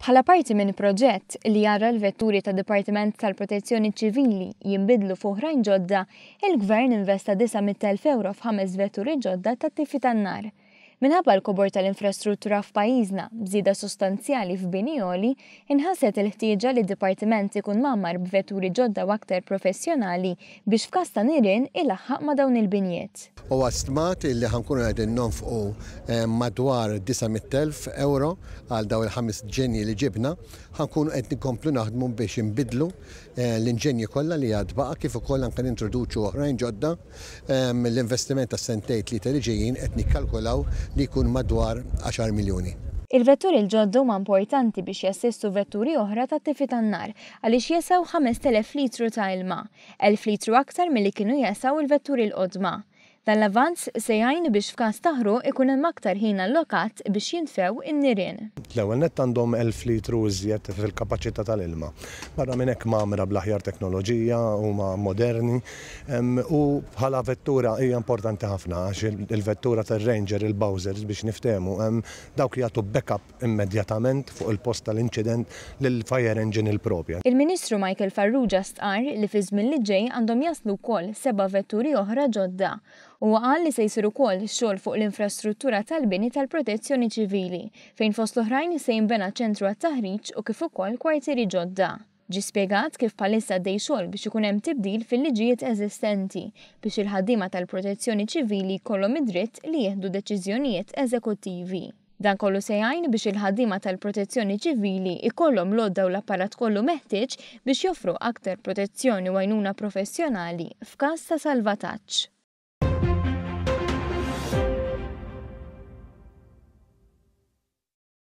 Bħala parti minn proġett li jara l-vetturi tad-Dipartiment tal-Protezzjoni Ċivili jinbidlu f'oħrajn ġodda, il-Gvern investa 900,000 ewro f'ħames vetturi ġodda tat-tifi tan-nar. Minħabba l-kobor tal-infrastruttura f'pajjiżna, b'żieda sostanzjali f'bini għoli, inħasset il-ħtieġa li d-Dipartiment ikun mgħammar b'vetturi ġodda u aktar professjonali biex f'każ ta' nirien ilaħħaq ma' dawn il-binjiet. Huwa stmat li ħa nkunu qegħdin nonfqu madwar 900,000 ewro għal dawn il-ħames ġenji li ġibna. Ħa nkunu qed nkomplu naħdmu biex inbiddlu l-inġenji kollha li għad baqa' kif ukoll anke nintroduċu oħrajn ġodda. L-investiment għas-sentejn tlieta li ġejjin qed nikkalkulaw li jkun madwar għaxar miljuni. Il-vetturi l-ġodda huma importanti biex jassistu vetturi oħra tat-tifi tan-nar għaliex jesgħu 5,000 litru ta' ilma, 1,000 litru aktar milli kienu jesgħu l-vetturi l-qodma. Dan l-avvanz se jgħin biex f'każ ta' ħruq ikun hemm aktar ħin allokat biex jintfew in-nirien. L-ewwel nett għandhom 1,000 litru iżjed fil-kapaċità tal-ilma. Barra minn hekk mgħammra bl-aħjar teknoloġija, huma moderni u bħala vettura hija importanti ħafna għax il-vettura tar-Ranger, il-Bowsers biex niftehmu, dawk jagħtu backup immedjatament fuq il-post tal-inċident lill-fire engine il-propja. Il-Ministru Michael Farrugia stqarr li fiż-żmien li ġej għandhom jaslu wkoll seba' vetturi oħra ġodda. Huwa qal li se jsir ukoll xogħol fuq l-infrastruttura tal-bini tal-Protezzjoni Ċivili, fejn fost l-oħrajn se jinbena ċentru għat-taħriġ u kif ukoll kwartieri ġodda. Ġie spjegat kif bħalissa għaddej xogħol biex ikun hemm tibdil fil-liġijiet eżistenti biex il-ħaddiema tal-Protezzjoni Ċivili jkollhom id-dritt li jieħdu deċiżjonijiet eżekuttivi. Dan kollu se jgħin biex il-ħaddiema tal-Protezzjoni Ċivili jkollhom l-għodda u l-apparat kollu meħtieġ biex joffru aktar protezzjoni u għajnuna professjonali f'każ ta' salvataġġ.